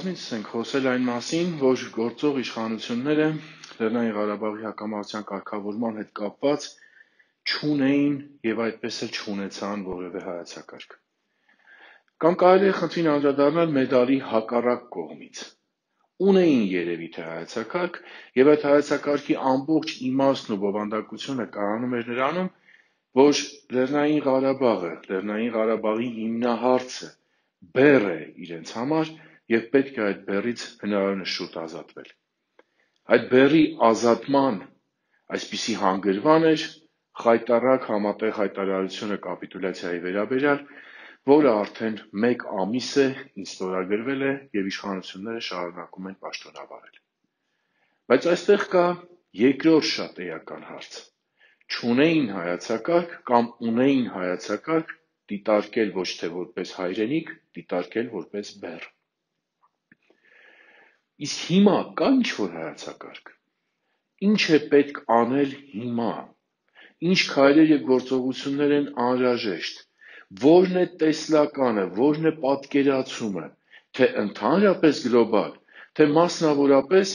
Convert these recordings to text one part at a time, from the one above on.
Բազմիցս ենք խոսել այն մասին, որ գործող իշխանությունները Լեռնային Ղարաբաղի հակամարտության կարգավորման հետ կապված չունեին եւ այդպես էլ չունեցան որևէ հայեցակարգ։ Կամ կարելի է խնդրին անդրադառնալ մեդալի հակառակ կողմից։ Ունեին երևի թե հայեցակարգ եւ այդ հայեցակարգի ամբողջ իմաստն ու բովանդակությունը կայանում էր նրանում, որ Լեռնային Ղարաբաղը, Լեռնային Ղարաբաղի հիմնահարցը բեռ է իրենց համար եւ պետք է այդ բեռից հնարավորինս շուտ ազատվել։ Այդ բեռի ազատման այսպիսի հանգրվան էր խայտառակ համատեղ հայտարարությունը կապիտուլյացիայի վերաբերյալ, որը արդեն 1 ամիս է ինչ ստորագրվել է եւ իշխանությունները շարունակում են պաշտոնավարել։ Բայց այստեղ կա երկրորդ շատ էական հարց։ Չունեին հայեցակարգ կամ ունեին հայեցակարգ դիտարկել ոչ թե որպես հայրենիք, դիտարկել որպես բեռ։ Իսկ հիմա կա ինչ-որ հայեցակարգ։ Ինչ է պետք անել հիմա։ Ինչ քայլեր եւ գործողություններ են անհրաժեշտ։ Որն է տեսլականը, որն է պատկերացումը, թե ընդհանրապես գլոբալ, թե մասնավորապես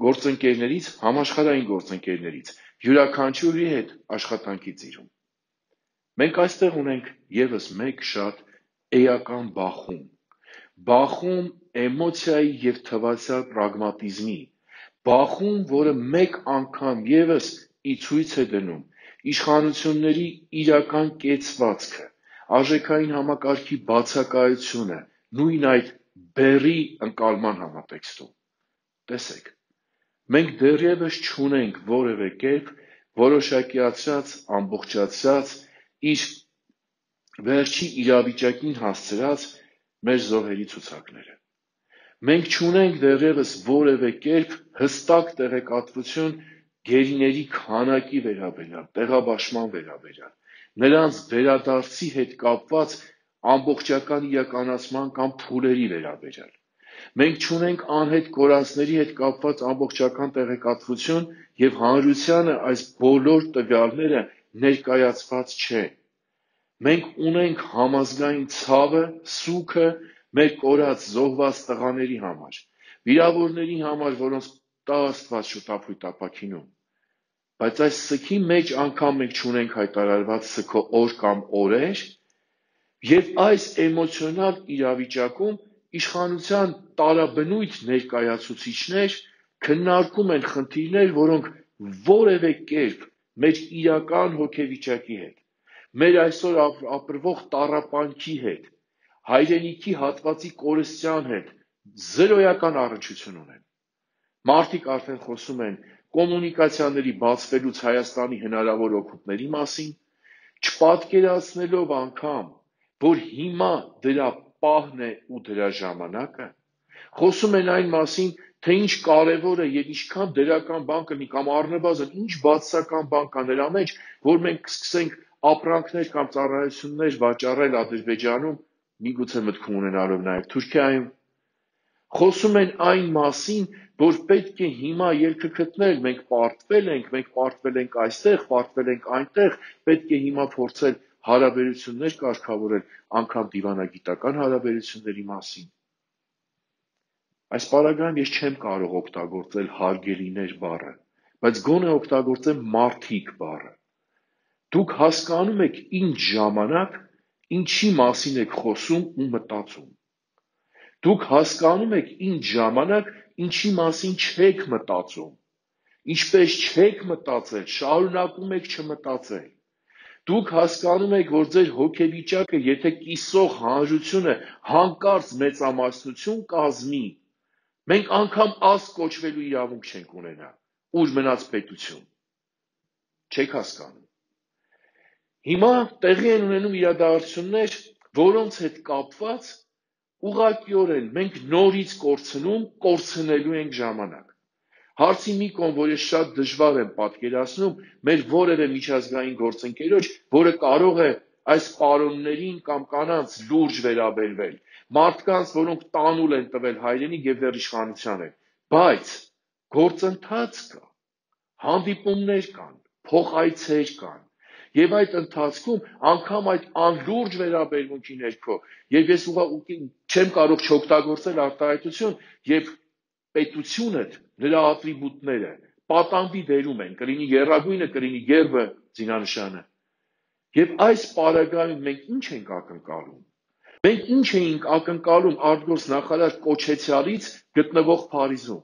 գործընկերներից, համաշխարհային գործընկերներից, յուրաքանչյուրի հետ աշխատանքի ծիրում։ Մենք այստեղ ունենք եւս մեկ շատ էական բախում էմոցիայի եւ թվացial պրագմատիզմի, բախում, որը մեկ անգամ եւս ի ցույց է դնում իշխանությունների իրական կեցվածքը, արժեքային համակարգի բացակայությունը, նույն այդ բեռի ընկալման համատեքստում։ Տեսեք, մենք դեռևս չունենք որևէ կերպ որոշակիացրած, ամբողջացրած, իր վերջի իրավիճակին հասցրած մեր զոհերի ցուցակները։ Մենք չունենք դեռևս որևէ կերպ հստակ տեղեկատվություն գերիների քանակի վերաբերյալ, տեղաբաշխման վերաբերյալ, նրանց վերադարձի հետ կապված ամբողջական իրականացման կամ փուլերի վերաբերյալ։ Մենք չունենք անհետ կորածների հետ կապված ամբողջական տեղեկատվություն եւ հանրությանը այս բոլոր տվյալները ներկայացված չեն։ Մենք ունենք համազգային ցավը, սուգը մեր կորած զոհված տղաների համար, վիրավորների համար, որոնց տա Աստված շուտափույթ ապաքինում։ Բայց այս սգի մեջ անգամ մենք չունենք հայտարարված սգո օր կամ օրեր, եւ այս էմոցիոնալ իրավիճակում իշխանության տարաբնույթ ներկայացուցիչներ քննարկում են խնդիրներ, որոնք որևէ կերպ մեր իրական հոգեվիճակի հետ, մեր այսօր ապրվող տառապանքի հետ, հայրենիքի հատվածի կորստյան հետ զրոյական առնչություն ունեն։ Մարդիկ արդեն խոսում են կոմունիկացիաների բացվելուց Հայաստանի հնարավոր օգուտների մասին, չպատկերացնելով անգամ, որ հիմա դրա պահն է ու դրա ժամանակը, խոսում են այն մասին, թե ինչ կարևոր է եւ ինչքան դրական բան կլինի կամ առնվազն ինչ բացասական բան կա նրա մեջ, որ մենք կսկսենք ապրանքներ կամ ծառայություններ վաճառել Ադրբեջանում, միգուցե մտքում ունենալով նաեւ Թուրքիայում։ Խոսում են այն մասին, որ պետք է հիմա ելքը գտնել, մենք պարտվել ենք այստեղ, պարտվել ենք այնտեղ, պետք է հիմա փորձել հարաբերություններ կարգավորել, անգամ դիվանագիտական հարաբերությունների մասին։ Այս պարագայում ես չեմ կարող օգտագործել հարգելիներ բառը, բայց գոնե օգտագործեմ մարդիկ բառը։ Դուք հասկանում եք ինչ ժամանակ, ինչի մասին եք խոսում ու մտածում։ Դուք հասկանում եք ինչ ժամանակ, ինչի մասին չեք մտածում, ինչպես չեք մտածել, շարունակում եք չմտածել։ Դուք հասկանում եք, որ ձեր հոգեվիճակը, եթե կիսող հանրությունը հանկարծ մեծամասնություն կազմի, մենք անգամ ազգ կոչվելու իրավունք չենք ունենա, ուր մնաց պետություն։ Չեք հասկանում։ Հիմա տեղի են ունենում իրադարձություններ, որոնց հետ կապված ուղղակիորեն մենք նորից կորցնելու ենք ժամանակ։ Հարցի մի կողմ, որ ես շատ դժվար եմ պատկերացնում մեր որևէ միջազգային գործընկերոջ, որը կարող է այս պարոններին կամ կանանց լուրջ վերաբերվել, մարդկանց, որոնք տանուլ են տվել հայրենիք եւ դեռ իշխանության են, բայց գործընթաց կա, հանդիպումներ կան, փոխայցեր կան, Եվ այդ ընթացքում անգամ այդ անլուրջ վերաբերմունքի ներքո, եւ ես չեմ կարող չօգտագործել արտահայտություն, եւ պետությունդ, նրա ատրիբուտները պատանվի դերում են, կլինի եռագույնը, կլինի գերբը, զինանշանը։ Եվ այս պարագայում մենք ինչ ենք ակնկալում։ Մենք ինչ էինք ակնկալում արտգործ նախարար Կոչեցյալից գտնվող Փարիզում։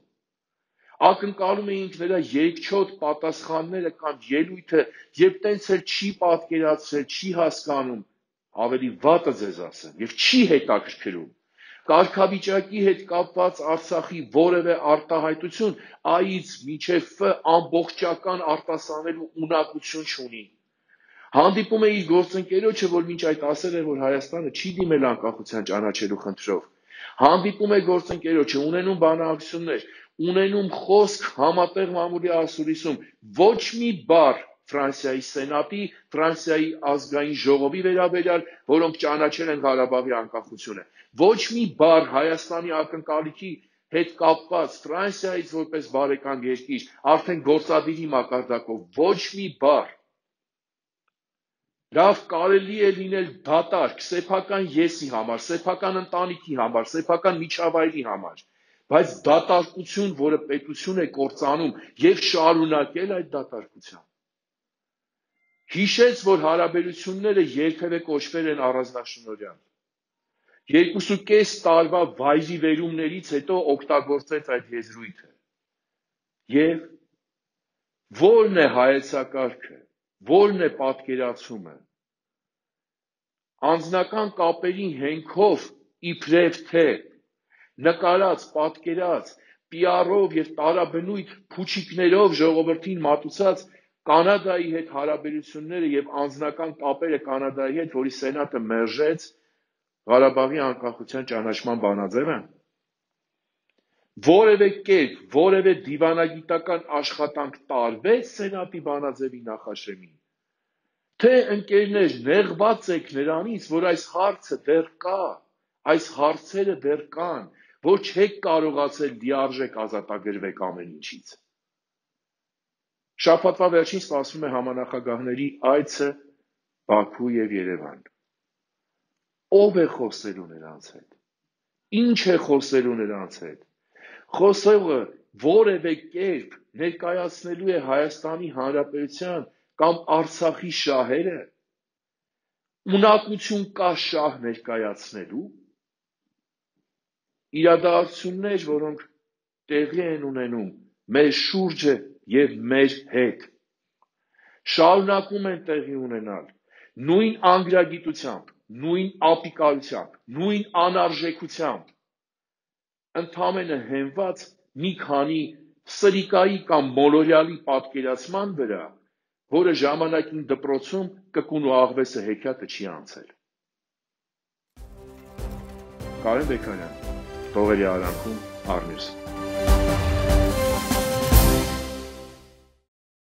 Ակնկալում էինք նրա երկչոտ պատասխանները կամ ելույթը, եւ տենց էլ չի պատկերացրել, չի հասկանում, ավելի վատը ձեզ ասեմ, եւ չի հետաքրքրում կարգավիճակի հետ կապված Արցախի որևէ արտահայտություն A-ից մինչև F ամբողջական արտասանելու ունակություն չունի։ Հանդիպում է իր գործընկերոջը, որ մինչ այդ ասել է, որ Հայաստանը չի դիմել անկախության ճանաչելու խնդրով։ Հանդիպում է գործընկերոջը, ունենում բանակցություններ, ունենում խոսք համատեղ մամուլի ասուլիսում, ոչ մի բառ Ֆրանսիայի Սենատի, Ֆրանսիայի ազգային ժողովի վերաբերյալ, որոնք ճանաչել են Ղարաբաղի անկախությունը։ Ոչ մի բառ Հայաստանի ակնկալիքի հետ կապված Ֆրանսիայից որպես բարեկամ երկիր, արդեն գործադիրի մակարդակով, ոչ մի բառ։ Լավ կարելի է լինել դատարկ, սեփական եսի համար, սեփական ընտանիքի համար, սեփական միջավայրի համար, բայց դատարկություն, որը պետություն է կործանում եւ շարունակել այդ դատարկությամբ։ Հիշեց, որ հարաբերությունները երբևէ կոչվել են առանձնաշնորհյալ։ 2.5 տարվա վայրի վերումներից հետո օգտագործեց այդ եզրույթը։ Եվ ո՞րն է հայեցակարգը, ո՞րն է պատկերացումը։ Անձնական կապերի հենքով իբրև թե նկարած, պատկերած, PR-ով եւ տարաբնույթ փուչիկներով ժողովրդին մատուցած Կանադայի հետ հարաբերությունները եւ անձնական կապերը Կանադայի հետ, որի սենատը մերժեց Ղարաբաղի անկախության ճանաչման բանաձևը, որևէ կերպ, որևէ դիվանագիտական աշխատանք տարվեց սենատի բանաձևի նախաշեմին, թե ընկերներ նեղված եք նրանից, որ այս հարցը դեռ կա, այս հարցերը դեռ կան, որ չեք կարողացել լիարժեք ազատագրվեք ամեն ինչից։ Շաբաթվա վերջին սպասվում է համանախագահների այցը Բաքու եւ Երևան։ Ով է խոսելու նրանց հետ։ Ինչ է խոսելու նրանց հետ։ Խոսողը որևէ կերպ ներկայացնելու է Հայաստանի Հանրապետության կամ Արցախի շահերը։ Ունակություն կա շահ ներկայացնելու։ Իրադարձություններ, որոնք տեղի են ունենում մեր շուրջը եւ մեր հետ, շարունակում են տեղի ունենալ նույն անգրագիտությամբ, նույն ապիկարությամբ, նույն անարժեքությամբ, ընդամենը հենված մի քանի սրիկայի կամ մոլորյալի պատկերացման վրա, որը ժամանակին դպրոցում կկուն ու աղվեսը հեքիաթը չի անցել։ Կարեն Բեկարյան, Տողերի արանքում, Առնյուս։